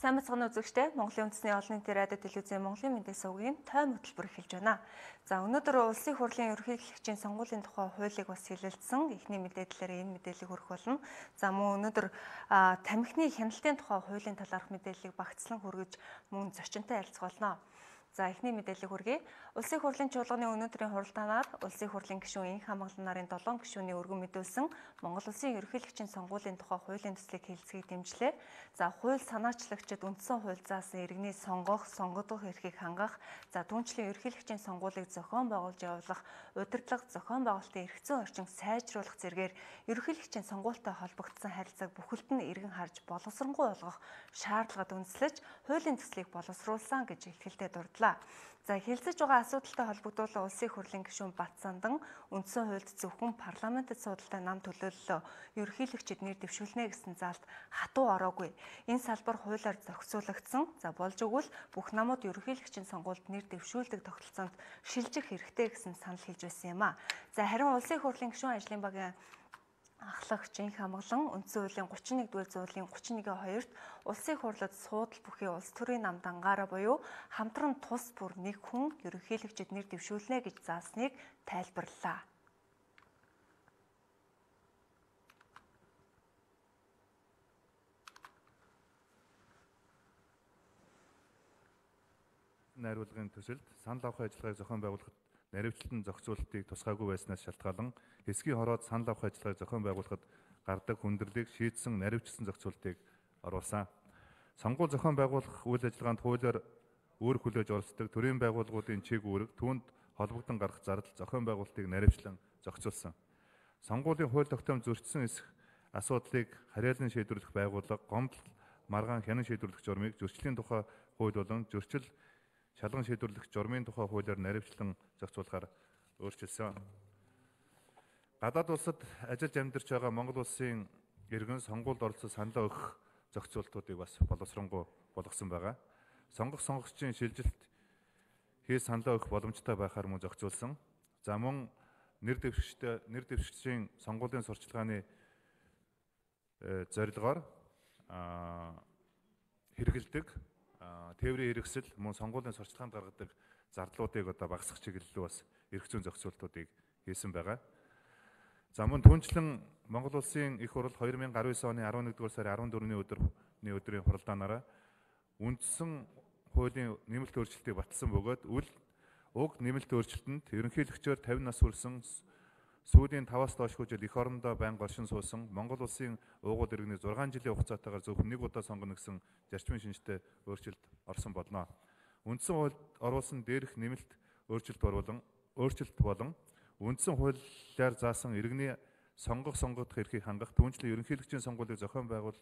Сайн мэцхан үзэгчдээ Монголын үндэсний олон нийтийн радио телевизийн Монголын мэндийн сувгийн тойм хөтөлбөр эхэлж байна. За өнөөдөр улсын хурлын ерөнхийлөгчийн сонгуулийн тухай хуулийг бас хэлэлцсэн. Эхний мэдээллээр энэ мэдээллийг хүргэх болно. За мөн өнөөдөр тамхины хяналтын тухай хуулийн талаарх мэдээллийг багцлан хүргэж мөн зочинтой ярилцах болно. За эхний мэдээллийг хүргэе. Улсын хурлын чуулганы өнөөдрийн хуралдаанаар улсын хурлын гишүүн Энх хамгаалан нарын 7 гишүүний өргөн мэдүүлсэн Монгол улсын ерөнхийлөгчийн сонгуулийн тухай хуулийн төслийг хэлэлцгийг дэмжлээ. За хууль санаачлагчид үндсэн хууль заасан иргэний сонгох, сонгогдох эрхийг хангах, за түүнчлэн ерөнхийлөгчийн сонгуулийг зохион байгуулж явуулах, удирдлага, зохион байгуулалтын эрх зүйн орчинг сайжруулах зэргээр ерөнхийлөгчийн сонгуультай холбогдсон харилцааг бүхэлд нь эргэн харж боловсронгуй болгох шаардлагад үндэслэж хуулийн төслийг боловсруулсан гэж илтгэлтэй дурдлаа. За хэлэлцэж байгаа асуудалтай холбогдуулан улсын хурлын гишүүн Батсандан үндсэн хуульд зөвхөн парламентэд суудалтай нам төлөөллөө ерөнхийлөгчид нэр дэвшүүлнэ гэсэн заалт хатуу ороогүй. Энэ салбар хуулиар зохицуулагдсан. За болж өгвөл бүх намууд ерөнхийлөгчийн сонгуульд нэр дэвшүүлдэг тогтолцоонд шилжих хэрэгтэй гэсэн санал хэлж байсан юм а. За харин улсын хурлын гишүүн ажлын багийн ахлагч Энх хамгаалан үндсэн хуулийн 31-р зүйлийн 31-2-т улсын хурлад суудал бүхий улс төрийн нам дангаараа буюу хамтран тус бүр нэг хүн ерөнхийлөгчид нэр дэвшүүлнэ гэж заасныг тайлбарллаа. Найруулгын төсөлд санал авах ажиллагааг зохион байгуулахад наривчлалтын зохицуулалтыг тусгаагүй байснаас шалтгаалan хэсгийн хороод санал авах ажиллагааг зохион байгуулахад гардаг хүндрэлийг шийдсэн наривчлсан зохицуулалтыг оруулсан. Сонгуул зохион байгуулах үйл ажиллагаанд хуулиар үүрэг хүлээж оролцдог төрийн байгууллагуудын чиг үүрэг түүнд холбогдсон гарах зардал зохион байгуулалтыг наривчлан зохицуулсан. Сонгуулийн хууль тогтоомж зөрчсөн эсэх асуудлыг харьяалан шийдвэрлэх байгууллага гомдол маргаан хянан шийдвэрлэх журмыг зөрчлийн тухай хууль болон зөрчил шалган шийдвэрлэх журмын тухай хуулиар наривчлан зохицуулахаар өөрчилсөн. Гадаад улсад ажиллаж амьдарч байгаа Монгол улсын иргэн сонгуульд оролцож саналаа өгөх зохицуултуудыг бас боловсронгуй болгосон байгаа. Сонгогчдын шилжилт хийж саналаа өгөх боломжтой байхаар мөн зохицуулсан. За мөн нэр дэвшигчдийн сонгуулийн сурчлагын зорилгоор хэрэгэлдэг тээврийн хэрэгсэл мөн сонгуулийн сурчлаганд гаргадаг зардлуудыг одоо багасгах чиглэлээр бас эрх зүйн зохицуултуудыг хийсэн байгаа. За мөн түүнчлэн Монгол улсын их хурал 2019 оны 11-р сарын 14-ний өдрийн хуралдаанаараа үндсэн хуулийн нэмэлт өөрчлөлтийг баталсан бөгөөд уг нэмэлт өөрчлөлтөнд ерөнхийлөгчөөр 50 нас хүрсэн сүүлийн 5-аас доошгүй жил эх орондоо байнга оршин суусан Монгол улсын уугуул иргэний 6 жилийн хугацаатаагаар зөвхөн нэг удаа сонгоно гэсэн зарчмын шинжтэй өөрчлөлт орсон болно. Үндсэн хуульд оруулсан дээрх нэмэлт өөрчлөлт болон үндсэн хуулиар заасан иргэний сонгогдох эрхийг хангах түүнчлэн ерөнхийлөгчийн сонгуулийг зохион байгуулж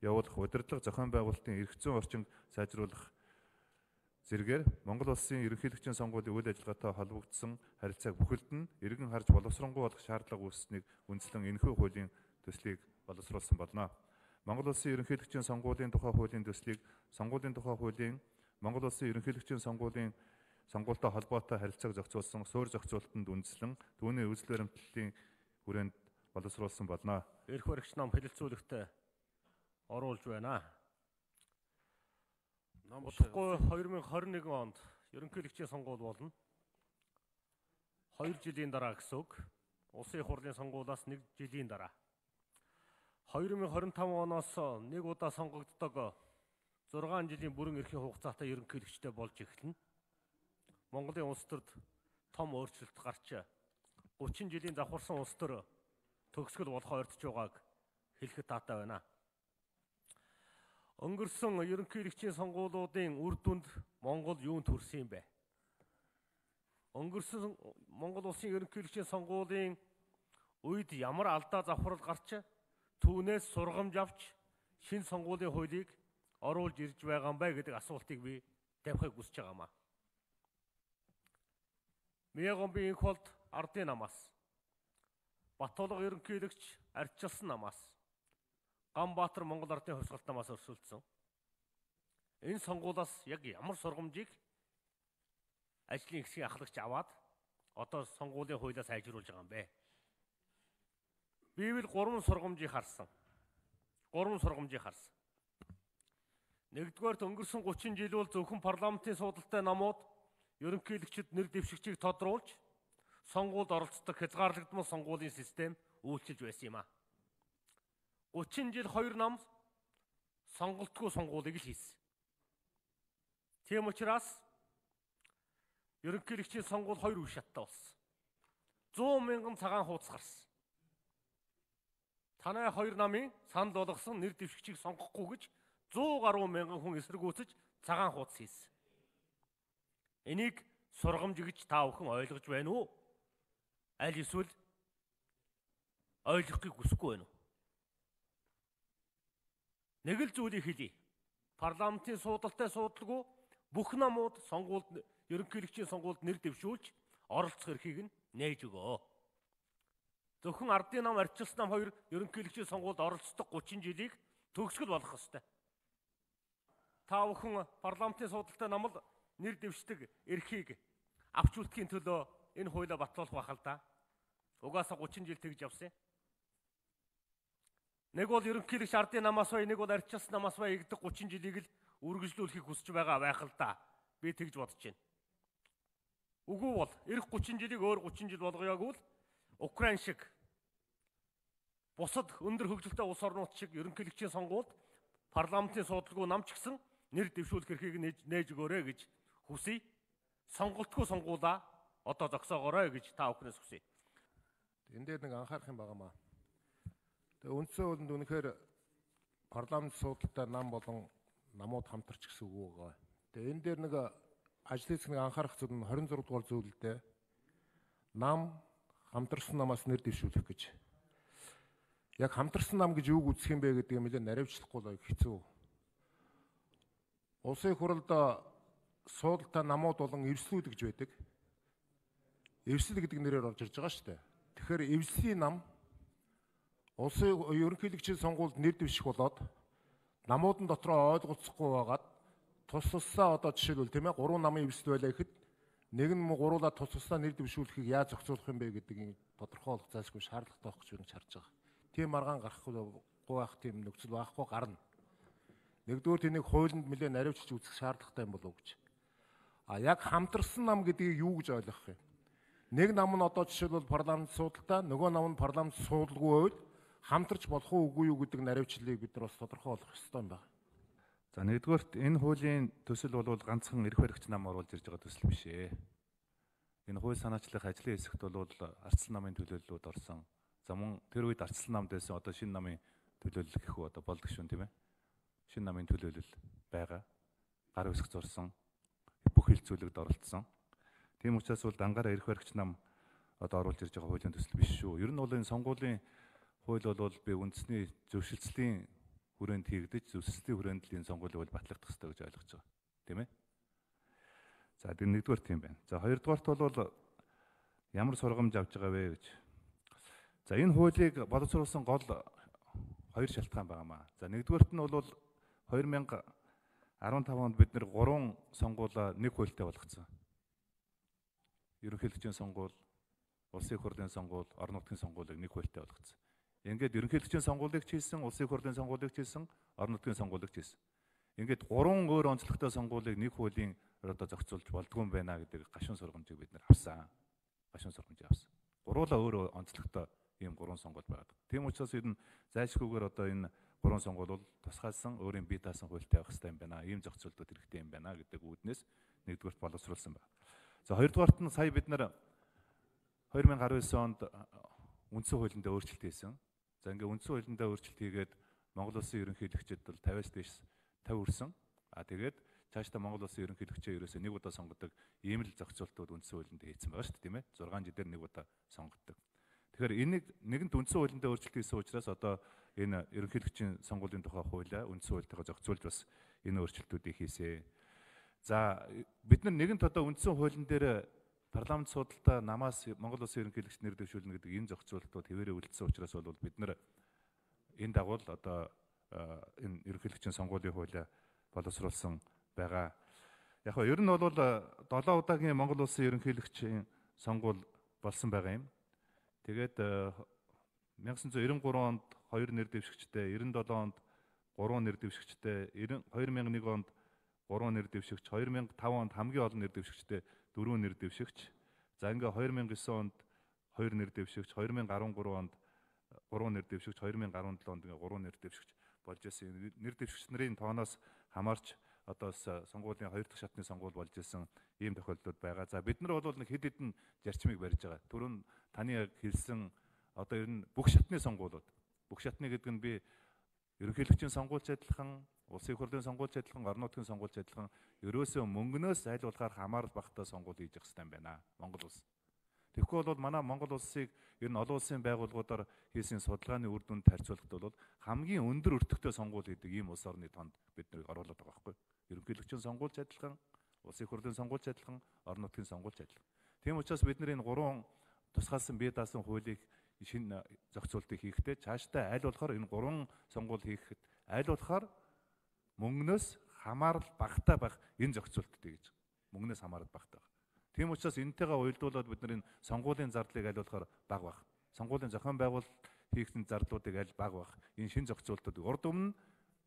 явуулах удирдлага зохион байгуулалтын эрх зүйн орчинг сайжруулах зэргээр Монгол улсын ерөнхийлөгчийн сонгуулийн үйл ажиллагаатай холбогдсон харилцааг бүхэлд нь эргэн харж боловсронгуй болгох шаардлага үүссэнийг үндслэн энэхүү хуулийн төслийг боловсруулсан болно. Монгол улсын ерөнхийлөгчийн сонгуулийн тухай хуулийн төслийг сонгуулийн тухай хуулийн Монгол улсын ерөнхийлөгчийн сонгуультай холбоотой харилцааг зохицуулсан суурь зохицуулалтанд үндслэн түүний үзэл баримтлалын хүрээнд боловсруулсан болно. Эрх баригч нам хэлэлцүүлэгтээ оруулж байна. Удахгүй 2021 онд ерөнхийлөгчийн сонгуул болно. 2 жилийн дараа гэсэн үг. Улсын их хурлын сонгуулиас 1 жилийн дараа. 2025 оноос нэг удаа сонгогддог 6 жилийн бүрэн эрхийн хугацаатай ерөнхийлөгчтэй болж эхэлнэ. Монголын улс төрд том өөрчлөлт гарч 30 жилийн давхарсан улс төр төгсгөл болохоо ойртож байгааг хэлэхэд таатай байна. Өнгөрсөн ерөнхийлөгчийн сонгуулиудын үр дүнд Монгол юунд хүрсэн юм бэ? Өнгөрсөн Монгол улсын ерөнхийлөгчийн сонгуулийн үед ямар алдаа завхрал гарч түүнээс сургамж авч шинэ сонгуулийн хуулийг оруулж ирж байгаа юм бэ гэдэг асуултыг би тавихыг хүсэж байгаамаа. Мянган Энх болд ардын намаас, Батулга ерөнхийлөгч ардчилсан намаас, Ганбаатар Монгол ардын хувьсгалт намаас өрсөлдсөн. Энэ сонгуулиас яг ямар сургамжийг ажлын хэсгийн ахлагч аваад одоо сонгуулийн хуулиа сайжруулж байгаа юм бэ? Би бол 3 сургамжийг харсан. Нэгдүгээр өнгөрсөн 30 жил бол зөвхөн парламентын суудалтай намууд ерөнхийлөгчд нэр дэвшигчийг тодруулж сонгуульд оролцдог хязгаарлагдмал сонгуулийн систем үйлчилж байсан юм а. 30 жил хоёр нам сонголтгүй сонгуулийг л хийсэн. Тийм учраас ерөнхийлөгчийн сонгуул хоёр үе шаттай болсон. 100 мянган цагаан хуудас гарсан. Танай хоёр намын санал болгосон нэр дэвшигчийг сонгохгүй гэж 100 гаруй мянган хүн эсэргүүцэж цагаан хуудас хийсэн. Энийг сургамж гэж та бүхэн ойлгож байна уу? Аль эсвэл ойлгохыг хүсэхгүй байна уу? Нэг л зүйлийг хэлье. Парламентын суудалтай суудалгүй бүх намууд сонгуульд ерөнхийлөгчийн сонгуульд нэр дэвшүүлж оролцох эрхийг нь нээж өгөө. Зөвхөн ардын нам, арчилсан нам хоёр ерөнхийлөгчийн сонгуульд оролцдог 30 жилийг төгсгөл болгох ёстой. Та бүхэн парламентын суудалтай намд нэр дэвшдэг эрхийг авч үлдэхийн төлөө энэ хуулиа батлуулах байх л да. Угаасаа 30 жил тэгж явсан. Нэг бол ерөнхийлөгч ардын намаас бай, нэг бол арчилсан намаас бай игдэг 30 жилийг л үргэлжлүүлэхийг хүсэж байгаа байх л да. Би тэгж бодож байна. Үгүй бол эх 30 жилийг өөр 30 жил болгоёгүй л Украин шиг бусад өндөр хөгжилтэй улс орнууд шиг ерөнхийлөгчийн сонгуульд парламентын суудалгүй нам ч гэсэн нэр дэвшүүлэх эрхийг нээж өгөөрэй гэж хүсье. Сонголтгүй сонгуулаа одоо зогсоогоорой гэж та бүхнээс хүсье. Энэ дээр нэг анхаарах юм байгаамаа. Тэгээ үндсэн хуулинд үнэхээр парламент суудалтай нам болон намууд хамтарч гэсэн үг байгаа. Тэгээ энэ дээр нэг ажлын хэсэг нэг анхаарах зүйл нь 26 дугаар зүйлдээ нам хамтарсан намаас нэр дэвшүүлэх гэж. Яг хамтарсан нам гэж юуг үзэх юм бэ гэдгийг нэлээд наривчлахгүй л хэцүү. Улсын их хурлд суудалтай намууд болон эвслүүд гэж байдаг. Эвсэл гэдэг нэрээр орж ирж байгаа шүү дээ. Тэгэхээр эвслийн нам улсын ерөнхийлөгчийн сонгуульд нэр дэвших болоод намуудын дотроо ойлголцохгүй байгаад тус тусаа одоо жишээлбэл тийм ээ 3 намын эвсэл байлаа гэхэд нэг нь гуруула тус тусаа нэр дэвшүүлэхийг яаж зохицуулах юм бэ гэдгийг тодорхойлох зайлшгүй шаардлагатай байх гэж би харж байгаа. Тийм маргаан гарахгүй байх тийм нөхцөл байхгүй гарна. Нэгдүгээр тэнийг хуулинд нэлээд наривчилж үзэх шаардлагатай юм болов уу гэж. Яг хамтарсан нам гэдгийг юу гэж ойлгох юм? Нэг нам нь одоо жишээлбэл парламент суудалтай, нөгөө нам нь парламент суудалгүй байвал хамтарч болох уугүй юу гэдэг наривчлалыг бид нар бас тодорхой болгох ёстой юм байна. За нэгдүгээрт энэ хуулийн төсөл бол ганцхан эрх баригч нам оруулж ирж байгаа төсөл биш ээ. Энэ хууль санаачлах ажлын хэсэгт бол ардчилсан намын төлөөллүүд орсон. За мөн тэр үед ардчилсан намд байсан одоо шинэ намын төлөөлөл гэх үү одоо болдог шүүн тийм ээ. Шинэ намын төлөөлөл байгаа. Гар үсэг зурсан. Бүх хилцүүлэгд оролцсон. Тийм учраас бол дангаараа эрх баригч нам одоо оруулж ирж байгаа хуулийн төсөл биш шүү. Ер нь бол энэ сонгуулийн хууль бол би үндэсний зөвшөлтслийн хүрээнд хийгдэж зөвшөлтслийн хүрээнд л энэ сонгуулийг бол батлагдах хэрэгтэй гэж ойлгож байгаа. Тийм ээ. За тэр нэгдүгээр тийм байна. За хоёрдугаарт бол ямар сургамж авч байгаа вэ гэж. За энэ хуулийг боловсруулсан гол хоёр шалтгаан байгаамаа. За нэгдүгээрт нь бол 2015 онд бид нэр 3 сонгуулаа нэг хуультай болгоцсон. Ерөнхийлөгчийн сонгуул, улсын их хурлын сонгуул, орон нутгийн сонгуулийг нэг хуультай болгоцсон. Ингээд ерөнхийлөгчийн сонгуулийг ч хийсэн, улсын их хурлын сонгуулийг ч хийсэн, орон нутгийн сонгуулийг ч хийсэн. Ингээд 3 өөр онцлогтой сонгуулийг нэг хуулийн одоо зохицуулж болдгүй юм байна гэдэг гашуун сургамжийг бид нэр авсан. Гашуун сургамжийг авсан. Гуруула өөр онцлогтой ийм 3 сонгуул байдаг. Тийм учраас энэ зайлшгүйгээр одоо энэ 3 сонгуул бол тусгайлсан өөрийн бие даасан хуультай байх хэрэгтэй юм байна. Ийм зохицуултууд хэрэгтэй юм байна гэдэг үүднээс нэгдүгээрт боловсруулсан байна. За хоёрдугаарт нь сая бид нар 2019 онд үндсэн хуулиндаа өөрчлөлт хийсэн. За ингээ үндсэн хуулиндаа өөрчлөлт хийгээд Монгол Улсын ерөнхийлөгчд бол 50-аас дээш 50 хүрсэн. Тэгээд цаашдаа Монгол Улсын ерөнхийлөгчөө ерөөсөө нэг удаа сонгодог ийм л зохицуултууд үндсэн хуулинд хийсэн байгаа шүү дээ, тийм ээ. 6 жилээр нэг удаа сонгодог. Тэгэхээр энийг нэгэнт үндсэн хуулиндаа өөрчлөлт хийсэн учраас одоо энэ ерөнхийлөгчийн сонгуулийн тухай хуулиа үндсэн хуультайгаа зохицуулж бас энэ өөрчлөлтүүдийг хийсэн. За бид нар нэгэнт одоо үндсэн хуулийн дээр парламент судалтай намаас Монгол Улсын ерөнхийлөгч нэр дэвшүүлнэ гэдэг энэ зохицуултууд хэвээрээ үлдсэн учраас бол бид нар энэ дагуу одоо энэ ерөнхийлөгчийн сонгуулийн хуулиа боловсруулсан байгаа. Яг нь ер нь бол 7 удаагийн Монгол Улсын ерөнхийлөгчийн сонгуул болсон байгаа юм. Тэгээд 1993 онд 2 нэр дэвшигчтэй, 97 онд 3 нэр дэвшигчтэй, 2001 онд 3 нэр дэвшигч, 2005 онд хамгийн олон нэр дэвшигчтэй 4 нэр дэвшигч. За ингээ 2009 онд 2 нэр дэвшигч, 2013 онд 3 нэр дэвшигч, 2017 онд ингээ 3 нэр дэвшигч болж ирсэн. Нэр дэвшигч нарын тооноос хамаарч одоо сонгуулийн 2 дахь шатны сонгуул болж ирсэн ийм тохиолдлууд байгаа. За бид нар бол нэг хэд хэдэн зарчмыг барьж байгаа. Түрүүн таны хэлсэн одоо ер нь бүх шатны сонгуулиуд. Бүх шатны гэдэг нь би ерөнхийлөгчийн сонгуульч адилхан, улсын их хурлын сонгуульч адилхан, орон нутгийн сонгуульч адилхан ерөөсөө мөнгнөөс аль болохоор хамаарал багтаа сонгуул хийж явах хэрэгтэй юм байна. Монгол улс. Тэгэхгүй бол манай Монгол улсыг ер нь олон улсын байгууллагуудаар хийсэн судалгааны үр дүнд харьцуулахад бол хамгийн өндөр өртөгтэй сонгуул гэдэг ийм улс орны тоонд бид нарыг оруулаад байгаа байхгүй. Ерөнхийлөгчийн сонгуульч адилхан, улсын их хурлын сонгуульч адилхан, орон нутгийн сонгуульч адилхан. Тийм учраас бид нар энэ 3 тусгаалсан бие даасан хуулийг шинэ зохицуултыг хийхдээ цаашдаа аль болохоор энэ 3 сонгуул хийхэд аль болохоор мөнгнөөс хамаарал багтаа байх энэ зохицуултыг гэж. Мөнгнөөс хамаарал багтаа. Тийм учраас энэтэйгээ уялдуулаад бид нар энэ сонгуулийн зардлыг аль болохоор бага байх. Сонгуулийн зохион байгуулалт хийх зардлуудыг аль бага байх. Энэ шинэ зохицуултуудыг урд өмнө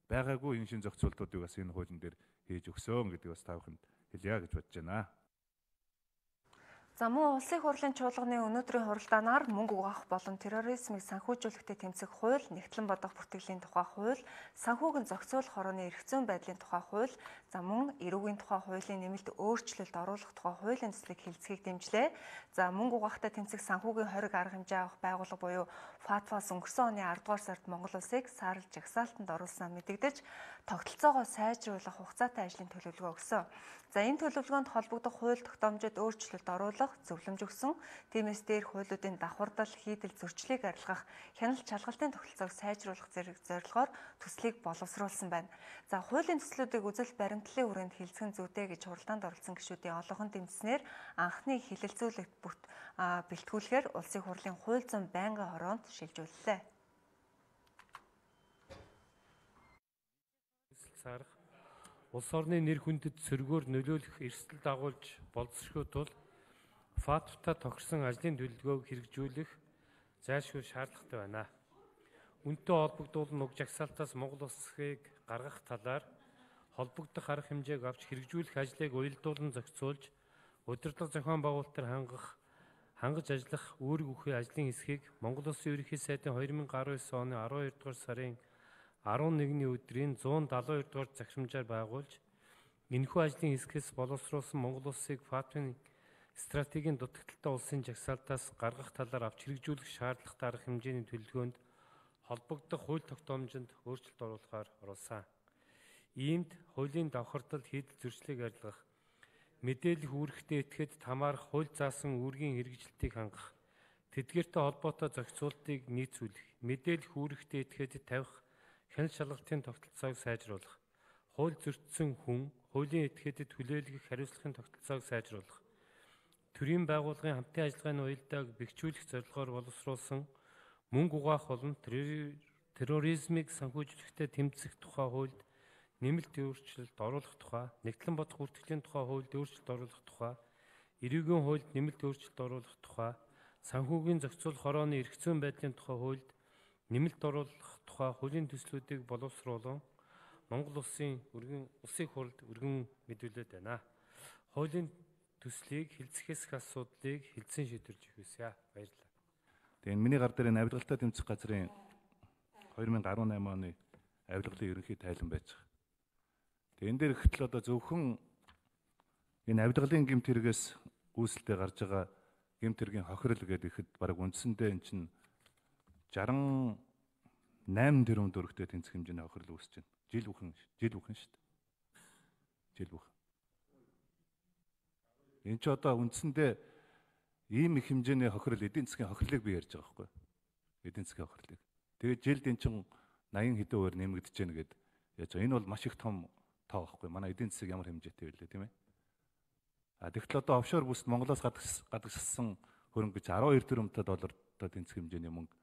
байгаагүй энэ шинэ зохицуултуудыг бас энэ хуулийн дээр хийж өгсөн гэдгийг бас та бүхэнд хэлье гэж бодож байна. За мөн улсын хурлын чуулганы өнөөдрийн хуралдаанаар мөнгө угаах болон терроризмыг санхүүжүүлэхтэй тэмцэх хууль, нэгтлэн бодох бүртгэлийн тухай хууль, санхүүгийн зохицуулах хорооны эрх зүйн байдлын тухай хууль, за мөн эрүүгийн тухай хуулийн нэмэлт өөрчлөлт оруулах тухай хуулийн төслийг хэлцгийг дэмжлээ. За мөнгө угаахтай тэмцэх санхүүгийн хориг арга хэмжээ авах байгууллага буюу ФАТФА-с өнгөрсөн оны 10 дугаар сард Монгол улсыг саарл жагсаалтанд оруулснаа мэдэгдэж, тогтолцоогоо сайжруулах хугацаатай ажлын төлөвлөгөө өгсөн. За энэ төлөвлөгөөнд холбогдох хууль тогтоомжид өөрчлөлт оруулах, зөвлөмж өгсөн. Тиймээс дээрх хуулиудын давхардал, хийдэл, зөрчлийг арилгах, хяналт шалгалтын тогтолцоог сайжруулах зэрэг зорилгоор төслийг боловсруулсан байна. За хуулийн төслүүдийг үзэл баримтлалын хүрээнд хилцэн зүйтэй гэж хуралдаанд оролцсон гишүүдийн олонхын дэмжснээр анхны хилэлцүүлэгт бэлтгүүлэхээр улсын хурлын хууль зүйн байнгын хороонд шилжүүллээ. Улс орны нэр хүндэд сөргөөр нөлөөлөх эрсдэл дагуулж боловсрохын тулд ФАТФ-та тохирсон ажлын төлөвлөгөөг хэрэгжүүлэх зайлшгүй шаардлагатай байна. Үүнтэй холбогдуулан уг жагсаалтаас Монгол улсыг гаргах талаар холбогдох арга хэмжээг авч хэрэгжүүлэх ажлыг уялдуулан зохицуулж, удирдлага зохион байгуулалтаар хангаж ажиллах үүрэг өгөх ажлын хэсгийг Монгол Улсын ерөнхий сайдын 2019 оны 12 дугаар сарын 11-ний өдрийн 172 дугаар захирамжаар байгуулж, энэхүү ажлын хэсгээс боловсруулсан Монгол улсыг ФАТФ-ийн стратегийн дутагдaltaй улсын жагсаалтаас гаргах талаар авч хэрэгжүүлэх шаардлагатай арга хэмжээний төлөвлөгөөнд холбогдох хууль тогтоомжинд өөрчлөлт оруулахаар оруулсан. Иймд хуулийн давхардал, хийдэл, зөрчлийг арилгах, мэдээлэх үүрэгтэй этгээд хамаарах хууль заасан үүргийн хэрэгжилтийг хангах, тэдгээртэй холбоотой зохицуултыг нийцүүлэх, мэдээлэх үүрэгтэй этгээдэд тавих хяналт шалгалтын тогтолцоог сайжруулах, хууль зөрчсөн хүн, хуулийн этгээдэд хүлээлгэх хариуцлагын тогтолцоог сайжруулах, төрийн байгууллагын хамтын ажиллагааны уялдааг бэхжүүлэх зорилгоор боловсруулсан мөнгө угаах болон терроризмыг санхүүжүүлэхтэй тэмцэх тухай хуульд нэмэлт өөрчлөлт оруулах тухай, нэгтлэн бодох бүртгэлийн тухай хуульд өөрчлөлт оруулах тухай, эрүүгийн хуульд нэмэлт өөрчлөлт оруулах тухай, санхүүгийн зохицуулах хорооны эрх зүйн байдлын тухай хуульд нэмэлт оруулах тухай хуулийн төслүүдийг боловсруулан Монгол улсын хурлд өргөн мэдүүлээд байна. Хуулийн төслийг хэлцэхээс асуудлыг хэлцэн шийдвэрлэж өгье. Баярлалаа. Тэгээ энэ миний гар дээр энэ авилгалтай тэмцэх газрын 2018 оны авилгалын ерөнхий тайлан байж байгаа. Тэгээ энэ дээр ихтэл одоо зөвхөн энэ авилгалын гэмт хэрэгээс үүсэлтэд гарч байгаа гэмт хэргийн хохирол гэдэг ихэд бараг үндсэндээ эн чинь 68 тэрбум төгрөгтэй тэнцэх хэмжээний хохирол үүсэж байна. Жил бүхэн шүү дээ. Жил бүхэн. Энд чи одоо үндсэндээ ийм их хэмжээний хохирол, эдийн засгийн хохирлыг би ярьж байгаа байхгүй юу? Эдийн засгийн хохирлыг. Тэгээд жилд эн чин 80 хэдэн хувиар нэмэгдэж байна гэд яаж байгаа. Энэ бол маш их том тоо байхгүй юу? Манай эдийн засаг ямар хэмжээтэй вэ тийм ээ? Тэгтэл одоо офшор бүсд Монголоос гадагшилсан хөрөнгө гэж 12 тэрбум доллартай тэнцэх хэмжээний мөнгө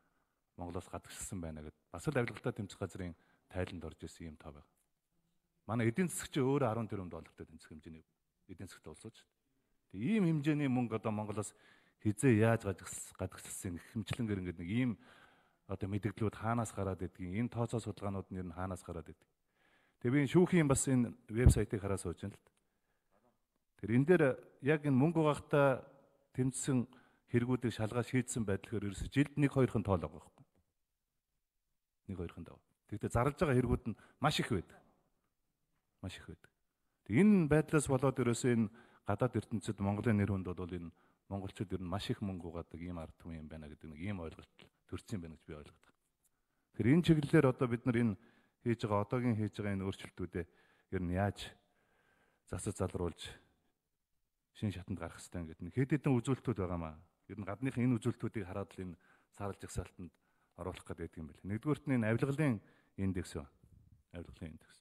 Монголоос гадагшилсан байна гэд бас л авилгалтай тэмцэх газрын тайланд орж ирсэн юм тоо байна. Манай эдийн засаг чи өөрөө 10 тэрбум доллартай тэнцэх хэмжээний эдийн засагтай улсууд шүү дээ. Тэгээ ийм хэмжээний мөнгө одоо Монголоос хизээ яаж гадагшилсан их хэмчлэн гэр ингээд нэг ийм одоо мэдээллүүд хаанаас гараад идгийг, энэ тооцоо судалгаанууд нь ер нь хаанаас гараад идгийг. Тэгээ би шүүхийн бас энэ вебсайтыг хараа сууж байна л да. Тэр энэ дээр яг энэ мөнгө угаахтаа тэмцсэн хэрэгүүдийг шалгаа шийдсэн байдлаар ерөөсө жилд 1-2хан тоол байгаа байхгүй. 1-2хан дав. Тэгвэл зарлж байгаа хэрэгүүд нь маш их байдаг. Маш их байдаг. Тэг энэ байдлаас болоод ерөөсөө энэ гадаад ертөнцид Монголын нэр хүнд бол энэ монголчууд ер нь маш их мөнгө угаадаг ийм ард түмэн юм байна гэдэг нэг ийм ойлголт төрсэн байна гэж би ойлгодог. Тэгэхээр энэ чиглэлээр одоо бид нар энэ хийж байгаа одоогийн хийж байгаа энэ өөрчлөлтүүдээ ер нь яаж засаж залруулж шин шатанд гарах хэрэгтэй гэдэг нэг хэд хэдэн үзүүлэлтүүд байгаамаа. Ер нь гадныхын энэ үзүүлэлтүүдийг хараад л энэ саарл жагсаалтанд оруулах гэдэг юм байна. Нэгдүгürt нь энэ авилгалын индекс ба. Авилгалын индекс.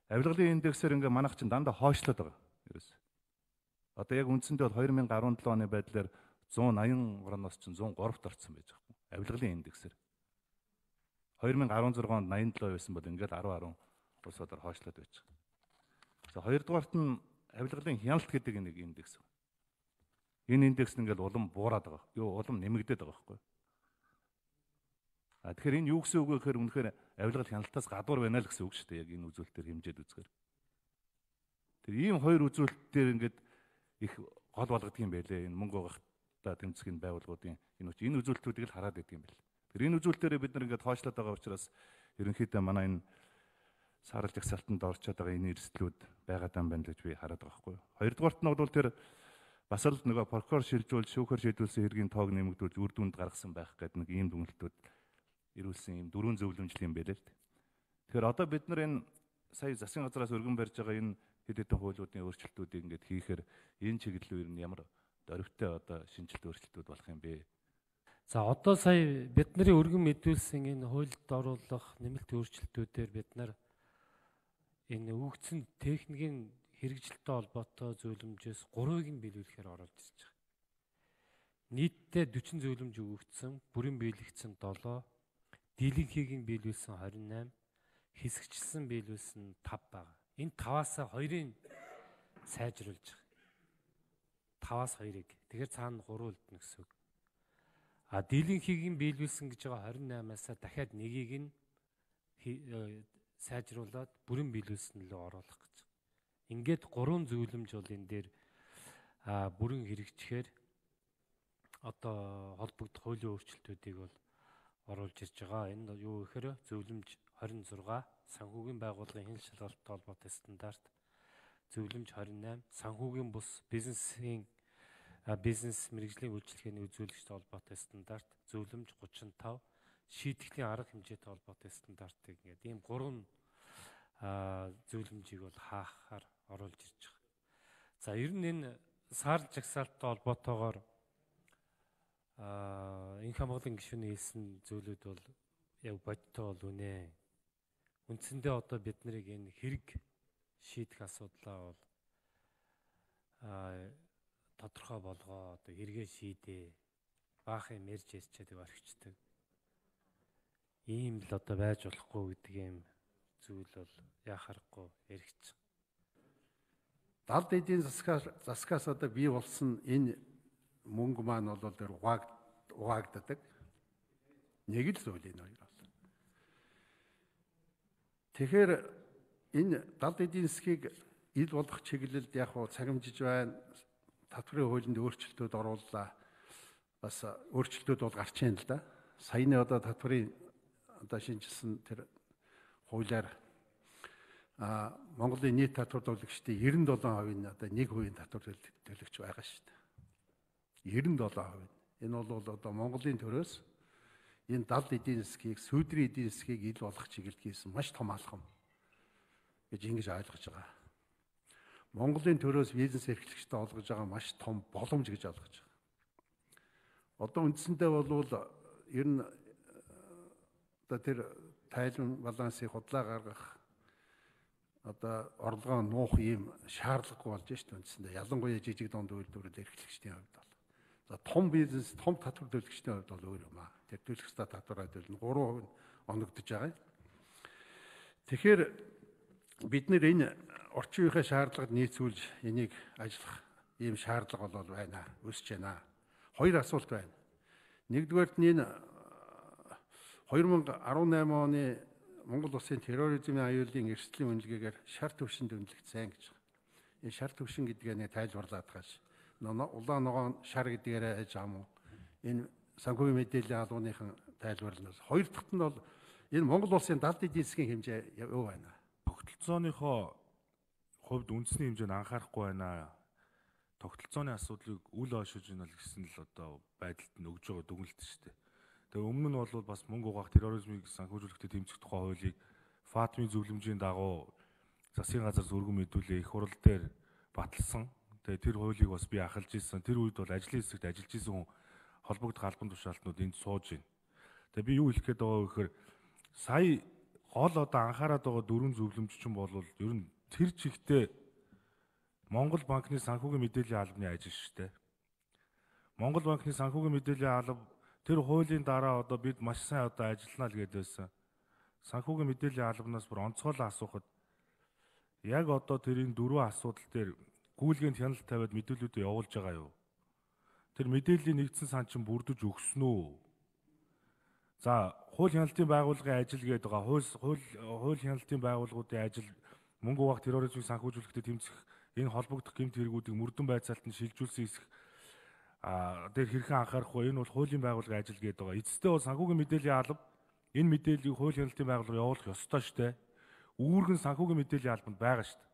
Авилгалын индексээр ингээ манайх чинь дандаа хойшлоод байгаа. Ерөөс. Одоо яг үндсэндээ бол 2017 оны байдлаар 180 орноос чинь 103-т орсон байж байгаа. Авилгалын индексээр. 2016 онд 87 байсан бол ингээд 10 улсуудаар хойшлоод байж байгаа. За хоёрдугаарт нь авилгалын хяналт гэдэг нэг индекс. Энэ индекс нь ингээд улам буураад байгаа. Юу улам нэмэгдээд байгаа байхгүй. Тэгэхээр энэ юу гэсэн үг вэ гэхээр үнэхээр авилгал хяналтаас гадуур байна л гэсэн үг шүү дээ. Яг энэ үзүүлэлтээр хэмжээд үзэхээр. Тэр ийм хоёр үзүүлэлтээр ингээд их гол болгодог юм байлээ. Энэ мөнгө угаахтаа тэмцэхийн байгууллагуудын энэ үзүүлэлтүүдийг л хараад байдаг юм байна. Тэр энэ үзүүлэлтээрээ бид нар ингээд хойшлоод байгаа учраас ерөнхийдөө манай энэ саарл жагсаалтанд орчод байгаа энэ эрсдлүүд байгаад юм байна гэж би хараад байгаа байхгүй юу. Хоёрдугаарт нь бол тэр бас л нөгөө прокурор шилжүүлж шүүхээр шийдүүлсэн хэргийн тоог нэмэгдүүлж үр дүнд гаргасан байх гэдэг нэг ийм дүгнэлтүүд ирүүлсэн ийм дөрвөн зөвлөмжл юм байлээ л дээ. Тэгэхээр одоо бид нар энэ сая засгийн газраас өргөн барьж байгаа энэ хэд хэдэн хуулиудын өөрчлөлтүүдийг ингээд хийхээр энэ чиглэл үер нь ямар дөрвтэй одоо шинжилт өөрчлөлтүүд болох юм бэ? За одоо сая бидний өргөн мэдүүлсэн энэ хуульд оруулах нэмэлт өөрчлөлтүүдээр бид нар энэ өгөгдсөн техникийн хэрэгжилттэй холбоотой зөвлөмжөөс 3-ыг нь биелүүлэхээр оролж ирж байгаа. Нийтдээ 40 зөвлөмж өгөгдсөн, бүрэн биелэгдсэн 7, дийлэнхийг нь биелүүлсэн 28, хэсэгчилсэн биелүүлсэн 5 байгаа. Энэ 5-аас 2-ыг сайжруулж байгаа. 5-аас 2-ыг. Тэгэхээр цаана 3 үлдэнэ гэсэн үг. А дийлэнхийг нь биелүүлсэн гэж байгаа 28-аас дахиад 1-ийг нь сайжруулад бүрэн биелүүлсэн лөө оруулах гэж. Ингээд 3 зөвлөмж бол энэ дээр бүрэн хэрэгжихээр одоо холбогдох хуулийн өөрчлөлтүүдийг бол оруулж ирж байгаа. Энэ юу гэхээр зөвлөмж 26 санхүүгийн байгууллагын хяналт шалгалттай холбоотой стандарт, зөвлөмж 28 санхүүгийн бус бизнес мэргэжлийн үйлчлэгээний үзүүлэгчтэй холбоотой стандарт, зөвлөмж 35 шийтгэлийн арга хэмжээтэй холбоотой стандартыг ингээд ийм 3 зөвлөмжийг бол хаахаар оруулж ирж байгаа. За ер нь энэ саарл жагсаалттай холбоотойгоор энэ хамгааллын гишүүний хэлсэн зүйлүүд бол яг бодтой бол үнэ. Үндсэндээ одоо бид нарыг энэ хэрэг шийдэх асуудлаа бол тодорхой болгоо одоо хэрэгээ шийдээ баахын мэрж ярьчаад орхичдаг. Ийм л одоо байж болохгүй гэдэг юм зүйл бол яхахгүй яригч. Далд эдийн засгаас одоо бий болсон энэ мөнгө маань бол тэр угаагддаг. Нэг л зүйл энэ хоёр бол. Тэгэхээр энэ далд эдийн засгийг ил болгох чиглэлд яг хуу цагимжиж байна. Татврын хуулинд өөрчлөлтүүд орууллаа. Бас өөрчлөлтүүд бол гарч ийн л да. Саяны одоо татврын одоо шинжилсэн тэр хуулиар Монголын нийт татвар төлөгчдийн 97% нь одоо 1% татвар төлөгч байгаа шүү дээ. 97%. Энэ бол одоо Монголын төрөөс энэ далд эдийн засгийг, сүүдрийн эдийн засгийг ил болгох чиглэлд хийсэн маш том алхам гэж ингэж ойлгож байгаа. Монголын төрөөс бизнес эрхлэгчтэй олгож байгаа маш том боломж гэж ойлгож байгаа. Одоо үндсэндээ бол ер нь одоо тэр тайлбар балансыг худлаа гаргах одоо орлогоо нуух ийм шаардлагагүй болж шүү дээ үндсэндээ. Ялангуяа жижиг дунд үйлдвэрлэл эрхлэгчдийн хувьд бол. За том бизнес, том татвар төлөгчдийн хувьд бол өөр юм аа. Тэр төлөх ёстой татвараа төлнө 3% нь оногдож байгаа. Тэгэхээр бид нэр энэ орчин үеийнхээ шаардлагад нийцүүлж энийг ажиллах ийм шаардлага бол байна, өсөж байна. Хоёр асуулт байна. Нэгдүгээрт нь энэ 2018 оны Монгол улсын терроризмын аюулын эрсдлийн үнэлгээгээр шар төвшөнд үнэлэгдсэн гэж байна. Энэ шар төвшин гэдгээ нэг тайлбарлаад хааш. Улаан ногоон шар гэдгээрээ аж ам уу? Энэ санхүүгийн мэдээллийн албаныхан тайлбарланаас. Хоёр дахьт нь бол энэ Монгол улсын далд эдийн засгийн хэмжээ юу байна? Тогтолцооныхоо хувьд үндэсний хэмжээнд анхаарахгүй байна. Тогтолцооны асуудлыг үл ойшиж ийн гэсэн л одоо байдалд нь өгж байгаа дүгнэлт шүү дээ. Тэгээ өмнө нь бол бас мөнгө угаах терроризмыг санхүүжүүлэхдээ тэмцэх тухай хуулийг ФАТМ-ийн зөвлөмжийн дагуу засгийн газар зүргэн мэдүүлээ их хурал дээр баталсан. Тэгээ тэр хуулийг бас би ахалж ирсэн. Тэр үед бол ажлын хэсэгт ажиллаж исэн хүн холбогдох албан тушаалтнууд энд сууж байна. Тэгээ би юу хэлэх гээд байгаа вэ гэхээр сая гол одоо анхаарат байгаа дөрвөн зөвлөмж чинь бол ер нь тэр чигтээ Монгол банкны санхүүгийн мэдээллийн албаны ажил шүү дээ. Монгол банкны санхүүгийн мэдээллийн алба тэр хуулийн дараа одоо бид маш сайн одоо ажиллана л гэдэг байсан. Санхүүгийн мэдээллийн албанаас бүр онцгойлон асуухад яг одоо тэрийн дөрвөн асуудал дээр гүйлгээнд хяналт тавиад мэдээллүүдээ явуулж байгаа юу? Тэр мэдээллийн нэгдсэн сан чинь бүрдэж өгсөн үү? За, хууль хяналтын байгууллагын ажил гэдэг байгаа. Хууль хяналтын байгууллагуудын ажил мөнгө угаах терроризмыг санхүүжүүлэхдээ тэмцэх энэ холбогдох гэмт хэрэгүүдийг мөрдөн байцаалтанд шилжүүлсэн хэсэг дээр хэрхэн анхаарах вэ? Энэ бол хуулийн байгууллагын ажил гэдэг байгаа. Эцэстээ бол санхүүгийн мэдээллийн алба энэ мэдээллийг хууль хяналтын байгууллага явуулах ёстой шүү дээ. Үүргэн санхүүгийн мэдээллийн албанд байгаа шүү дээ.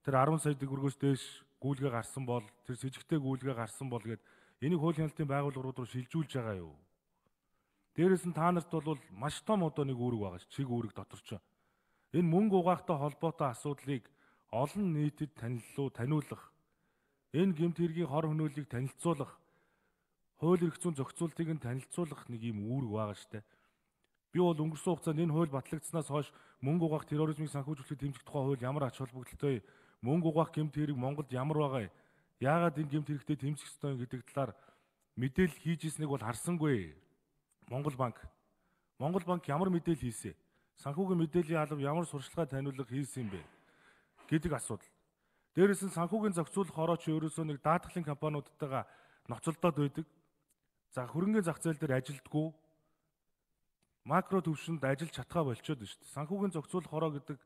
Тэр 10 сая төгрөгөөс дээш гүйлгээ гарсан бол тэр с ิจ гтэй гүйлгээ гарсан бол гээд энийг хууль хяналтын байгууллагууд руу шилжүүлж байгаа юу? Дээрээс нь та нарт бол маш том одоо нэг үүрэг байгаа ш. Чиг үүрэг дотор ч. Энэ мөнгө угаахтай холбоотой асуудлыг олон нийтэд таниулах, энэ гэмт хэргийн хор хөнөөллийг танилцуулах, хууль эрх зүйн зохицуултыг нь танилцуулах нэг юм үүрэг байгаа штэ. Би бол өнгөрсөн хугацаанд энэ хууль батлагдсанаас хойш мөнгө угаах терроризмыг санхүүжүүлэхэд тэмцэх тухай хууль ямар ач холбогдолтой, мөнгө угаах гэмт хэрэг Монголд ямар байгаа, яагаад энэ гэмт хэрэгтэй тэмцэх ёстой гэдэг талаар мэдээлэл хийж ирснийг бол харсангүй. Монгол банк ямар мэдээлэл хийсэн? Санхүүгийн мэдээллийн алба ямар сурчлагын таниулга хийсэн юм бэ гэдэг асуудал. Дээрээс нь санхүүгийн зохицуулах хорооч ерөөсөө нэг даатгалын компаниудтайгаа ноцолдоод байдаг. За хөрөнгөний зах зээл дээр ажилддаггүй. Макро төвшөнд ажиллаж чадхаа болчиход байна шүү дээ. Санхүүгийн зохицуулах хороо гэдэг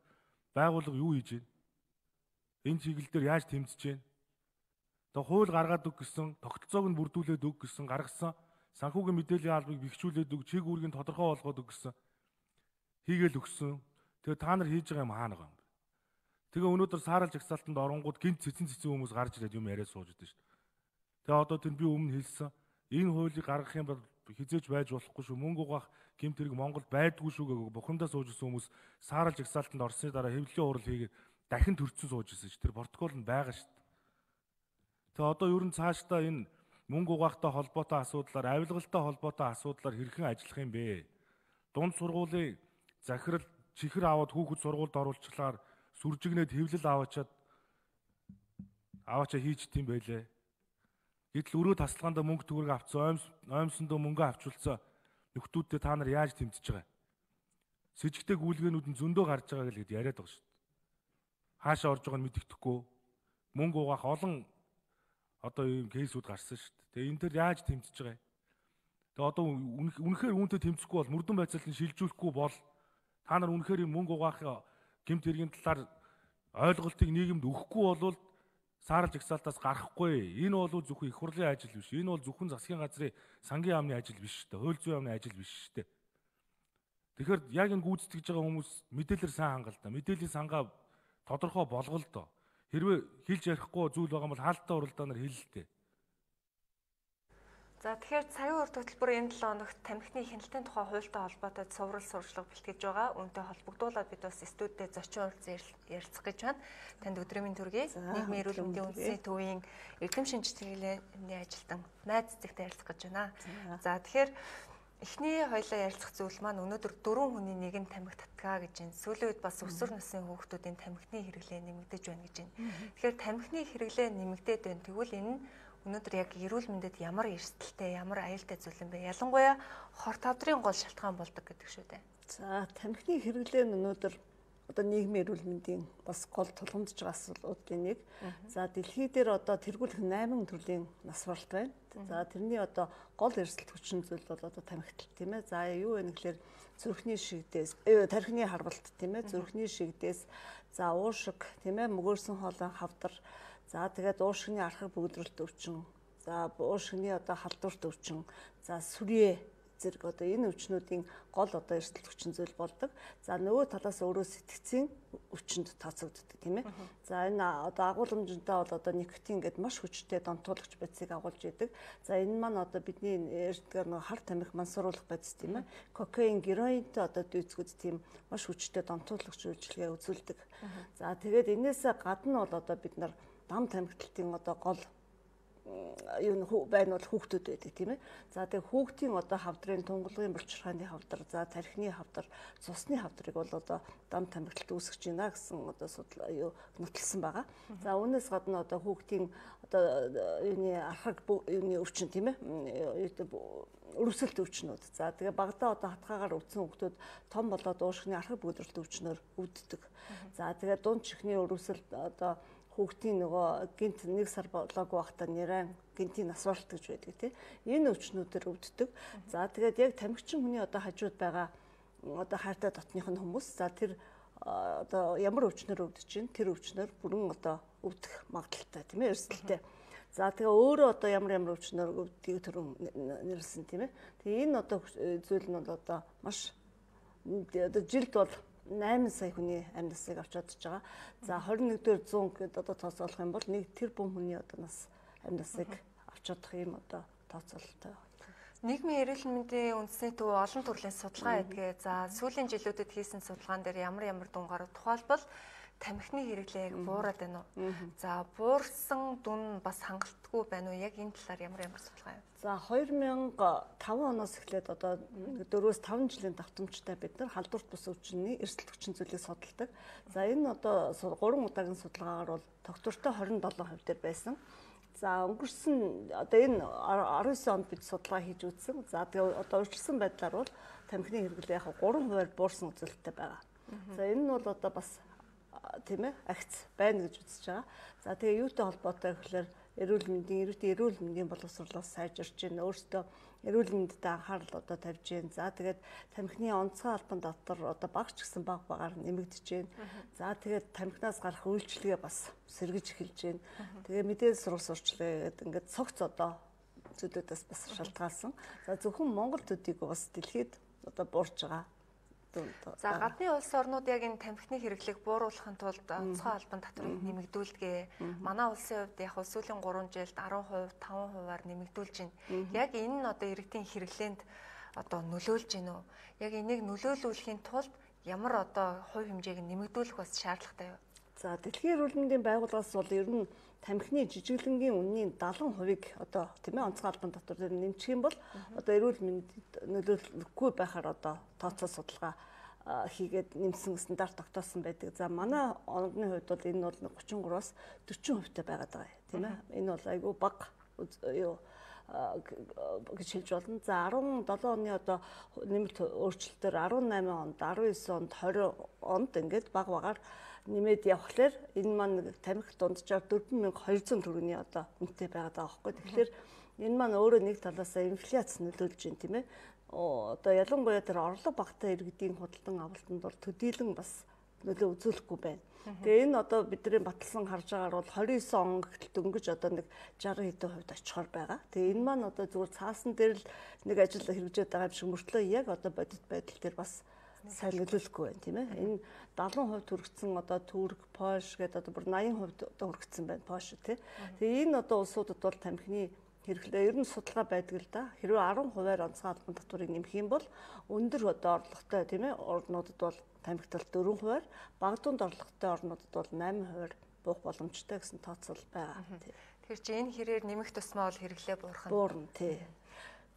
байгууллага юу хийж байна? Энэ чиглэл дээр яаж тэмцэж байна? Тэгээ хууль гаргаад өг гэсэн, тогтолцоог нь бүрдүүлээд өг гэсэн гаргасан санхүүгийн мэдээллийн албыг бэхжүүлээд өг, чиг үүргийг тодорхой болгоод өг гэсэн хийгээл өгсөн. Тэгээ та нар хийж байгаа юм хаана байгаа юм бэ? Тэгээ өнөөдөр саарал жагсаалтанд оронгууд гинт цэцэн хүмүүс гарч ирээд юм яриад сууж идэв шүү дээ. Тэгээ одоо тэр би өмнө хэлсэн энэ хуулийг гаргах юм бол хизээж байж болохгүй шүү. Мөнгө угаах гэмт хэрэг Монголд байдгүй шүү гээг бухимдаа сууж исэн хүмүүс саарал жагсаалтанд орсны дараа хэвлэлийн урал хийгээд дахин төрцөн сууж исэн шүү. Тэр протокол нь байгаа шүү. Тэгээ одоо ер нь цаашдаа энэ мөнгө угаахтай холбоотой асуудлаар, авилгалтай холбоотой асуудлаар хэрхэн ажиллах юм бэ? Дунд сургуулийн захирал чихэр аваад хүүхэд сургуульд оруулчихлаар сүржигнээд хэвлэл аваачаа хийж тийм байлээ. Гэтэл өрөө тасалгаанда мөнгө төгрөг авцсан, оймсондоо мөнгө авчулсан нөхдүүдтэй та нар яаж тэмцэж байгаа? С ิจ гтэй гүйлгээнүүд нь зөндөө гарч байгаа гэж яриад байгаа шүү дээ. Хаашаа орж байгааг нь мэддэхгүй. Мөнгө угаах олон одоо ийм кейсүүд гарсан шүү дээ. Тэгээ энэ төр яаж тэмцэж байгаа юм? Тэгээ одоо үнэхээр үүнтэй тэмцэхгүй бол мөрдөн байцаалтыг шилжүүлэхгүй бол та нар үнэхээр мөнгө угаах гэмт хэргийн талаар ойлголтыг нийгэмд өгөхгүй бол саарал жагсаалтаас гарахгүй. Энэ бол зөвхөн их хурлын ажил биш. Энэ бол зөвхөн засгийн газрын сангийн яамны ажил биш шүү дээ. Хууль зүйн яамны ажил биш шүү дээ. Тэгэхээр яг энэ гүйцэтгэж байгаа хүмүүс мэдээлэлээр сайн хангалдаа. Мэдээллийн сангаа тодорхой болгол доо. Хэрвээ хэлж ярихгүй зүйл байгаа бол хаалттай уралдаанаар хэлэлтэй. За тэгэхээр цагийн үр хөтөлбөр энэ 7 хоногт тамхины хяналтын тухай хуультай холбоотой цуврал сурчлага бэлтгэж байгаа. Үүнтэй холбогдуулаад бид бас студидд зочин уралцсан ярилцах гэж байна. Танд өдрийн төргий. Нийгмийн эрүүл мэндийн үндэсний төвийн эрдэм шинж чиглэлийн ажилтан найз цэцэгтэй ярилцах гэж байна. За тэгэхээр эхний хоёлаа ярилцах зүйл маань өнөөдөр 4 хүний нэг нь тамхи татгаа гэж байна. Сүүлийн үед бас өсвөр насны хүүхдүүдийн тамхины хэрэглээ нэмэгдэж байна гэж байна. Тэгэхээр тамхины хэрэглээ нэмэгдээд байна. Тэгвэл энэ нь өнөөдөр яг эрүүл мэндэд ямар эрсдэлтэй, ямар аюултай зүйл юм бэ? Ялангуяа хор тавдрын гол шалтгаан болдог гэдэг шүү дээ. За, тамхины хэрэглээ нь өнөөдөр одоо нийгмийн эрүүл мэндийн бас гол тулгамдж байгаа асуудлуудын нэг. За дэлхий дээр одоо тэргүүлэх 8 төрлийн нас баралт байна. За тэрний одоо гол эрсдэл хүчин зүйл бол одоо тамхитал тийм ээ. За юу вэ гэхээр зүрхний шигдээс, тархины харвалт тийм ээ, зүрхний шигдээс, за уушиг тийм ээ, мөгөөрсөн хоолой хавдар, за тэгээд уушигны архаг бөгдрөлт өвчин, за уушигны одоо халдварт өвчин, за сүрье зэрэг одоо энэ өвчнүүдийн гол одоо эрсдэл хүчин зүйл болдог. За нөгөө талаас өөрөө сэтгцийн өвчнөд тооцогддог тийм ээ. За энэ одоо агуулмжтай бол одоо никотин гэдэг маш хүчтэй донтуулагч байцыг агуулж идэг. За энэ маань одоо бидний эрдгээр нөгөө хар тамхи мансууруулах байц тийм ээ. Кокаин, героинтэй одоо дүйцгүүд тийм маш хүчтэй донтуулагч үйлчилгээ үзүүлдэг. За тэгээд энээсээ гадна бол одоо бид нар дам тамхиталтын одоо гол юу байна бол хүүхдүүд байдаг тийм ээ. За тэгээ хүүхдийн одоо хавдрын тунгалгын булчирхааны хавдар, за тархины хавдар, цусны хавдрыг бол одоо дам тамхиталт үүсгэж байна гэсэн одоо судал юу нотолсон байгаа. За үүнээс гадна одоо хүүхдийн одоо юуны архаг юуны өвчин тийм ээ. Өрөвсөлт өвчнүүд. За тэгээ багадаа одоо хатгаагаар өвдсөн хүүхдүүд том болоод уушгины архаг бөгдрөлт өвчнөөр өвддөг. За тэгээ дунд чихний өрөвсөлт одоо хүүхдийн нөгөө гинт 1 сар болоогүй байхдаа нэрэн гинтийн нас баралт гэж байдаг тийм. Энэ өвчнүүдээр өвддөг. За тэгээд яг тамхичин хүний одоо хажууд байгаа одоо хайртай дотных нь хүмүүс. За тэр одоо ямар өвчнөр өвдөж чинь тэр өвчнөр бүрэн одоо өвдөх магадaltaй тийм ээ, эрсдэлтэй. За тэгээ өөрөө одоо ямар өвчнөр өвдгийг төрөн нэрлсэн тийм ээ. Тэгээ энэ одоо зүйл нь бол одоо маш одоо жилд бол 8 сая хүний амь насыг авч чадж байгаа. За 21-р 100 гэдэг одоо тооцоолох юм бол 1 тэрбум хүний одоо нас амь насыг авч чадах юм одоо тооцоололтой. Нийгмийн эрүүл мэндийн үндэсний төв олон төрлийн судалгаа хийдэг. За сүүлийн жилүүдэд хийсэн судалгаан дээр ямар дүн гарав тухайлбал тамхины хэрэглээг буураад байна уу? За буурсан дүн бас хангалтгүй байна уу? Яг энэ талаар ямар судалгаа юм? За 2005 оноос эхлээд одоо 4-5 жилийн давтамжтай бид нар халдварт бус өвчний эрсдэл хүчин зүйлийг судалдаг. За энэ одоо 3 удаагийн судалгаагаар бол тогтвортой 27% дээр байсан. За өнгөрсөн одоо энэ 19 онд бид судалгаа хийж үзсэн. За тэгээ одоо өөрчлөсөн байдлаар бол тамхины хэрэглээ яг 3% буурсан үзүүлэлттэй байгаа. За энэ нь бол одоо бас тийм ээ агц байна гэж үзэж байгаа. За тэгээ юутай холбоотой гэхээр эрүүл мэндийн боловсруулалтаас сайжирч байна. Өөртөө эрүүл мэндэд анхаарал одоо тавьж байна. За тэгээд тамхины онцгой албан татвар одоо багч гэсэн багаар нэмэгдэж байна. За тэгээд тамхинаас гарах үйлчилгээ бас сэргэж эхэлж байна. Тэгээ мэдээлэл сурвалж гэдэг ингээд цогц одоо зүйлүүдээс бас шалтгаалсан. За зөвхөн Монгол төдийг бас дэлхийд одоо буурч байгаа. За гадны улс орнууд яг энэ тамхины хэрэглээг бууруулахын тулд онцгой албан татварыг нэмэгдүүлдэг. Манай улсын хувьд яг сүүлийн 3 жилд 10%, 5%-аар нэмэгдүүлж байна. Яг энэ нь одоо иргэдийн хэрэглээнд одоо нөлөөлж байна уу? Яг энийг нөлөөлүүлэхийн тулд ямар одоо хувь хэмжээг нэмэгдүүлэх бас шаардлагатай юу? За Дэлхийн эрүүл мэндийн байгууллагаас бол ер нь тамхины жижиглэнгийн үнийн 70%-ийг одоо тийм ээ онцгой албан татвар дээр нэмчих юм бол одоо эрүүл мэндэд нөлөөлөхгүй байхаар одоо тооцоо судалгаа хийгээд нэмсэн стандарт тогтоосон байдаг. За манай орны хувьд бол энэ бол 33-аас 40%-тай байгаад байгаа тийм ээ. Энэ бол айгүй бага юу гэж хэлж болно. За 17 оны одоо нэмэлт өөрчлөлтөөр 18 онд, 19 онд, 20 онд ингээд бага багаар нэмээд явхлаар энэ маань тамхи дунджаар 4200 төгрөгийн одоо үнэтэй байгаад байгаа байхгүй. Тэгэхээр энэ маань өөрөө нэг талаасаа инфляц нөлөөлж байна тийм ээ. Одоо ялангуяа тэр орлого багтаа иргэдийн худалдан авалтанд бол төдийлөн бас нөлөө үзүүлэхгүй байна. Тэгээ энэ одоо бидний баталсан харж байгаагаар бол 29 он гэтэл дөнгөж одоо нэг 60 хэдэн хувьд очихоор байгаа. Тэгээ энэ маань одоо зүгээр цаасан дээр л нэг ажил хэрэгжээд байгаа юм шиг мөртлөө яг одоо бодит байдал дээр бас сайн нөлөөлөхгүй байна тийм ээ. Энэ 70% хүрэгцэн одоо Түрк, Польш гэдэг одоо бүр 80% одоо хүрэгцэн байна Польш тий. Тэгээ энэ одоо улсуудад бол тамхины хэрэглээ ер нь судалгаа байдаг л да. Хэрвээ 10%-аар онцгой албан татварыг нэмэх юм бол өндөр одоо орлоготой тийм ээ орнуудад бол тамхитал 4%-аар, бага дунд орлоготой орнуудад бол 8%-аар буух боломжтой гэсэн тооцоол байгаа. Тэгэхээр чи энэ хэрээр нэмэх тусмаа бол хэрэглээ буурах нь буурна тий.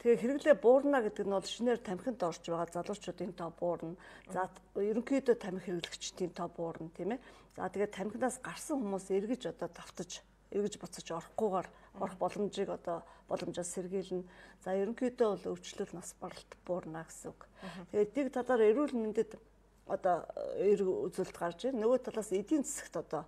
Тэгээ хэрэглээ буурна гэдэг нь бол шинээр тамхинд орж байгаа залуучуудын тоо буурна. За ерөнхийдөө тамхи хэрэглэгчдийн тоо буурна тийм ээ. За тэгээ тамхинаас гарсан хүмүүс эргэж одоо давтаж эргэж буцаж орохгүйгээр орох боломжийг одоо боломжоор сэргийлнэ. За ерөнхийдөө бол өвчлөл нас баралт буурна гэсэн үг. Тэгээд нэг талаар эрүүл мэндэд одоо эрг үзүүлэлт гарч байна. Нөгөө талаас эдийн засагт одоо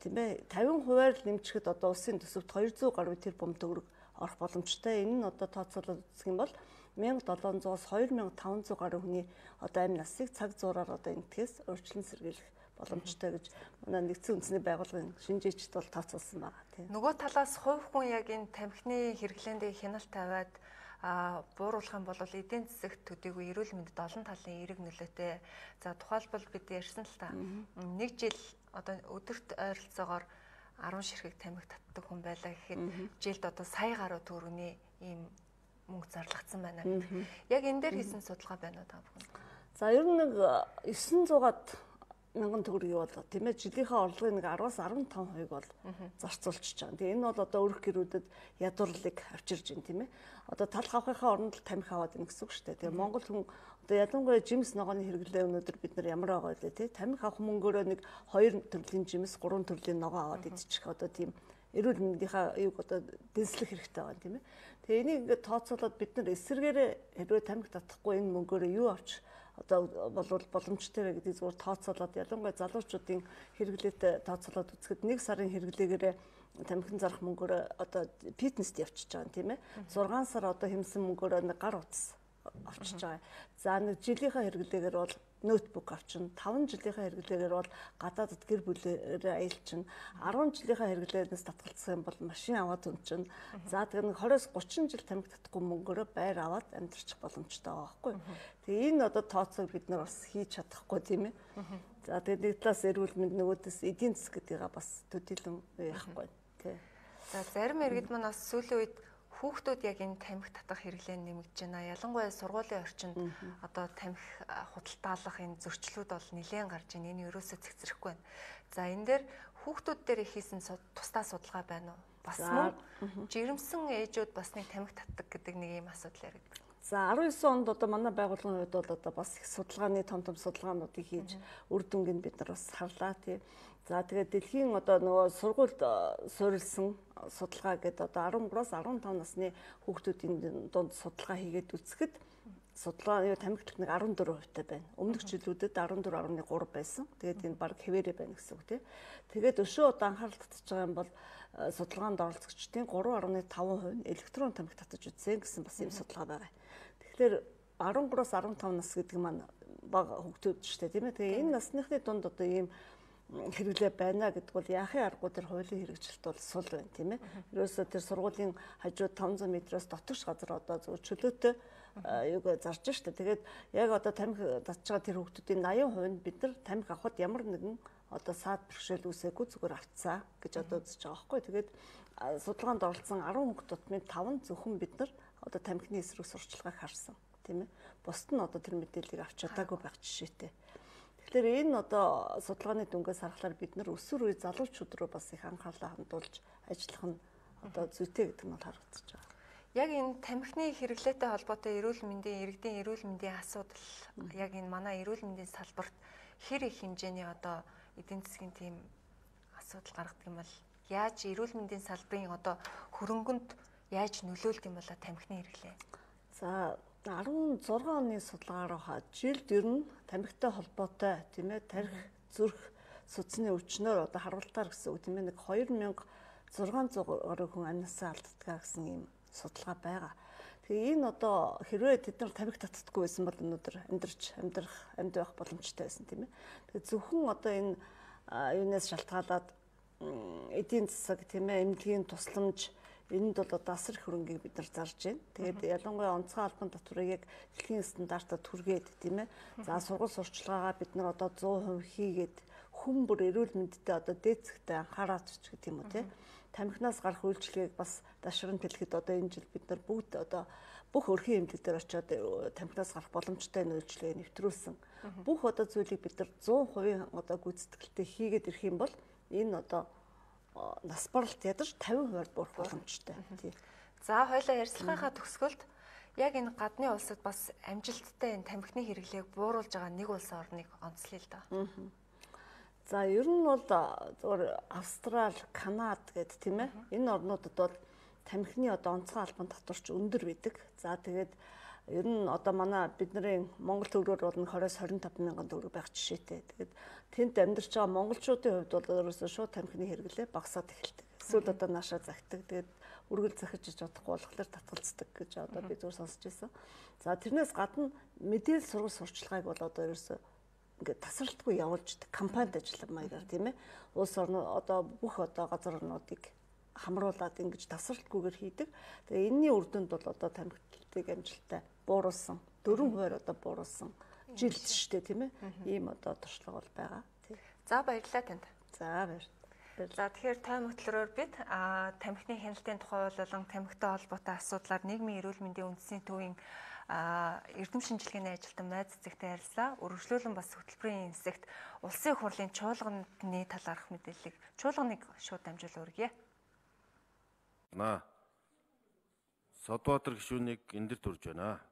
тийм ээ 50%-аар нэмчихэд одоо улсын төсөвт 200 гаруй тэрбум төгрөг орох боломжтой. Энэ нь одоо тооцоолоод үзэх юм бол 1700-аас 2500 гаруй хүний одоо амь насыг цаг зуураар одоо энтгэхээс өөрчлөн сэргийлэх боломжтой гэж манай нэгдсэн үндэсний байгууллагын шинжээчд бол тооцоолсон байгаа тийм. Нөгөө талаас хувь хүн яг энэ тамхины хэрэглээндээ хяналт тавиад бууруулах юм бол эдийн засагт төдийгүй эрүүл мэндэд олон талын эерэг нөлөөтэй. За тухайлбал бид ярьсан л та. Нэг жил одоо өдөрт ойролцоогоор 10 ширхэг тамхи татдаг хүн байлаа гэхэд жилд одоо сая гаруй төгрөгийн ийм мөнгө зарлагдсан байна гэдэг. Яг энэ дээр хийсэн судалгаа байна уу та бүхэн? За ер нь нэг 900-аад мянган төгрөгийг бол тийм ээ жилийнхээ орлогын нэг 10-аас 15%-ыг бол зарцуулчихж байгаа. Тэгээ энэ бол одоо өрх гэрүүдэд ядуурлыг авчирж байна тийм ээ. Одоо тал хавхынхаа оронд л тамхи аваад байна гэсэн үг шүү дээ. Тэгээ Монгол хүн одоо ялангуяа жимс ногооны хэрэглээ өнөөдөр бид нар ямар байгаа вэ тий? Тамхи авах мөнгөөрөө нэг 2 төрлийн жимс, 3 төрлийн ногоо аваад идчих одоо тийм эрүүл мэндийнхаа юуг одоо дэнслэх хэрэгтэй байна тийм ээ. Тэгээ энийг ингээд тооцоолоод бид нар эсэргээрээ хэрвээ тамхи татахгүй энэ мөнгөөрөө юу авч одоо болвол боломжтой вэ гэдэг зүгээр тооцоолоод ялангуяа залуучуудын хэрэглээтэй тооцоолоод үзэхэд 1 сарын хэрэглээгээрээ тамхин зарах мөнгөөрөө одоо фитнест явчихж байгаа тийм ээ. 6 сар одоо хэмсэн мөнгөөрөө нэг гар утас авчиж байгаа. За нэг жилийнхаа хэрэглээгээр бол ноутбук авчин, 5 жилийнхаа хэрэглээгээр бол гадаадд гэр бүлээрээ аялчин, 10 жилийнхаа хэрэглээс татгалцсан юм бол машин аваад унчин. За тэгээ нэг 20-30 жил тамхи татахгүй мөнгөөрөө байр аваад амьдрах боломжтой байгаа байхгүй. Тэгээ энэ одоо тооцоог бид нар бас хийж чадахгүй тийм ээ. За тэгээ нэг талаас эрүүл мэнд нөгөөдөөс эдийн засаг гэдгийг бас төдийлөн яахгүй тий. За зарим иргэд маань бас сүүлийн үед хүүхдүүд яг энэ тамхи татах хэрэглээ нэмэгдэж байна. Ялангуяа сургуулийн орчинд одоо тамхи худалдаалах энэ зөрчлүүд бол нэлээд гарч байна. Энэ ерөөсөө цэгцэрэхгүй байна. За энэ дээр хүүхдүүд дээр хийсэн тусдаа судалгаа байна уу? Бас мөн жирэмсэн ээжүүд бас нэг тамхи татдаг гэдэг нэг ийм асуудал яригддаг. За 19 онд одоо манай байгууллагын хувьд бол одоо бас их судалгааны том судалгаануудыг хийж үр дүнгийг бид нар бас харлаа тий. За тэгээд дэлхийн одоо нөгөө сургуульд суурилсан судалгаа гэдэг одоо 13-аас 15 насны хүүхдүүдийн дунд судалгаа хийгээд үзэхэд судалгаа тамхи татах нэг 14% байна. Өмнөх жилүүдэд 14.3 байсан. Тэгээд энэ баг хэвээрээ байна гэсэн үг тий. Тэгээд өшөө одоо анхаарал татж байгаа юм бол судалгаанд оролцогчдын 3.5% нь электрон тамхи татаж үзсэн гэсэн бас юм судалгаа байгаа. Тэгэхээр 13-аас 15 нас гэдэг маань бага хүүхдүүд шүү дээ тийм ээ. Тэгээ энэ насныхны дунд одоо ийм хэрэглээ байна гэдэг бол яахын аргагүй тэр хуулийн хэрэгжилт бол сул байна тийм ээ. Ерөөсөө тэр сургуулийн хажууд 500 метроос дотогш газар одоо зөв чөлөөтэй юуг зарж штэ. Тэгээд яг одоо тамхи татж байгаа тэр хүүхдүүдийн 80% нь бид нар тамхи авахд ямар нэгэн одоо саад бэрхшээл үүсээгүй зүгээр авцаа гэж одоо үзэж байгаа байхгүй. Тэгээд судалгаанд оролцсон 10 хүүхд тутмын 5 зөвхөн бид нар одоо тамхины эсрэг сурчлагыг харсан тийм ээ. Бусд нь одоо тэр мэдээллийг авч чадаагүй байх жишээтэй. Тэгэхээр энэ одоо судалгааны дүнгээс харахаар бид нар өсвөр үе залуучууд руу бас их анхаарлаа хандуулж ажиллах нь одоо зүйтэй гэдэг нь бол харагдаж байгаа. Яг энэ тамхины хэрэглээтэй холбоотой эрүүл мэндийн иргэдийн эрүүл мэндийн асуудал яг энэ манай эрүүл мэндийн салбарт хэр их хэмжээний одоо эдийн засгийн тийм асуудал гаргадаг юм бол яаж эрүүл мэндийн салбарын одоо хөрөнгөнд яаж нөлөөлт юм бол тамхины хэрэглээ? За 16 оны судалгаараа хаад жилд ер нь тамхитай холбоотой тийм ээ тарих зүрх судасны өвчнөөр одоо харуултаар гэсэн үг тийм ээ нэг 2600 гаруй хүн амнасаа алддаг гэсэн ийм судалгаа байгаа. Тэгээ энэ одоо хэрвээ тэд нар тамхи татдаггүй байсан бол өнөөдөр амьд байх боломжтой байсан тийм ээ. Тэгээ зөвхөн одоо энэ юунаас шалтгаалаад эдийн засаг тийм ээ эмнэлгийн тусламж энд бол одоо асар их хөрөнгийг бид нар зарж байна. Тэгээд ялангуяа онцгой албан татварыг яг дэлхийн стандартад хүргээд тийм ээ. За сургууль сурчлагаагаа бид нар одоо 100% хийгээд хүн бүр эрүүл мэндэд одоо дээцэгтэй анхаарат ч гэх юм уу тийм. Тамхинаас гарах үйлчлэгийг бас дашран тэлэхэд одоо энэ жил бид нар бүгд одоо бүх өрхийн эмнэлэг дээр очиод тамхинаас гарах боломжтой үйлчлэгийг нэвтрүүлсэн. Бүх одоо зүйлийг бид нар 100% одоо гүйцэтгэлтэй хийгээд ирэх юм бол энэ одоо нас баралт ядарч 50%-аар буурах боломжтой. Тийм. За хоёлаа ярилцлагынхаа төгсгөлд яг энэ гадны улсад бас амжилттай энэ тамхины хэрэглээг бууруулж байгаа нэг улс орныг онцлъё л доо. За ер нь бол зөвхөн Австрали, Канада гэдэг тийм ээ. Энэ орнуудад бол тамхины одоо онцгой албан татварч өндөр байдаг. За тэгээд Ер нь одоо манай бидний Монгол төгрөгөөр бол 20-25 мянган төгрөг байх жишээтэй. Тэгээд тэнд амьдарч байгаа монголчуудын хувьд бол ерөөсөө шууд тамхины хэрэглээ багасаад эхэлдэг. Эсвэл одоо наашаа загтдаг. Тэгээд үргэлж захиж иж чадахгүй болохоор татгалздаг гэж одоо би зүгээр сонсч байсан. За тэрнээс гадна мэдээлэл сургалт сурчлагыг бол одоо ерөөсөө ингээд тасралтгүй явуулж компанид ажиллах маягаар тийм ээ. Улс орн одоо бүх одоо газар орнуудыг хамруулад ингэж тасралтгүйгээр хийдэг. Тэгээ энэний үр дүнд бол одоо тамхиталтыг амжилттай бууруулсан 4% одоо бууруулсан жилд шүү дээ тийм ээ. Ийм одоо туршлага бол байгаа. За баярлалаа танд. За баярлалаа. За тэгэхээр тойм хөтлөрөөр бид тамхины хяналтын тухай болон тамхитай холбоотой асуудлаар нийгмийн эрүүл мэндийн үндэсний төвийн эрдэм шинжилгээний ажилтан Майз цэцэгтэй харилцаа. Үргэлжлүүлэн бас хөтөлбөрийн хэсэгт улсын их хурлын чуулганы талаарх мэдээллийг чуулганыг шууд дамжуул өргөе. Содбаатар гишүүнийг энэ дэр төрж байна.